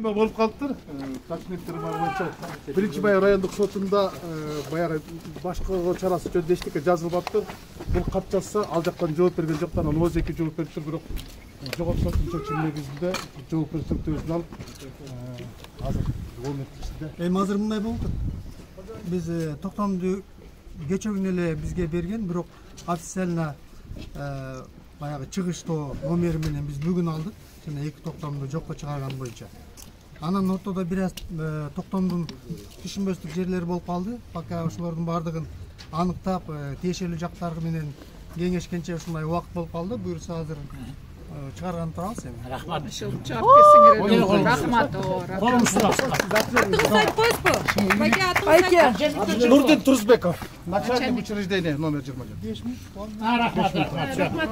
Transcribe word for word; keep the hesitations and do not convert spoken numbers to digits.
Болуп калыптыр. Документтер бар боюнча биринчи май райондук сотунда баягы башкаруу чарасы жөнүндө эчтеке жазылып атты. Бул кат жазса ал жактан жооп берген жоктан анын өзү эки жооп бериптир, бирок жогорку соттун чечими негизинде жоопкерчиликтүүсүн алып азыр документтерде. Эми азыр мындай болуп атат. Биз токтомду кечээ күнү эле бизге берген, бирок официально баягы чыгыштоо номери менен биз бүгүн алдык. Жана эки токтомду жокко чыгарган боюнча. Анан ортодо бир аз токтомдун түшүнбөстүк жерлери болуп калды. Пока ошолордун баардыгын аныктап, тиешелүү жактары менен кеңешкенче ушундай убакыт болуп калды. Буюрса азыр чыгарган турабыз эми. Рахмат. Жооп берсеңер. Рахмат. Атыңызды коесузбу? Байке, Нурдин Турсбеков, начальник учреждения номер жыйырма жети. Рахмат. Рахмат.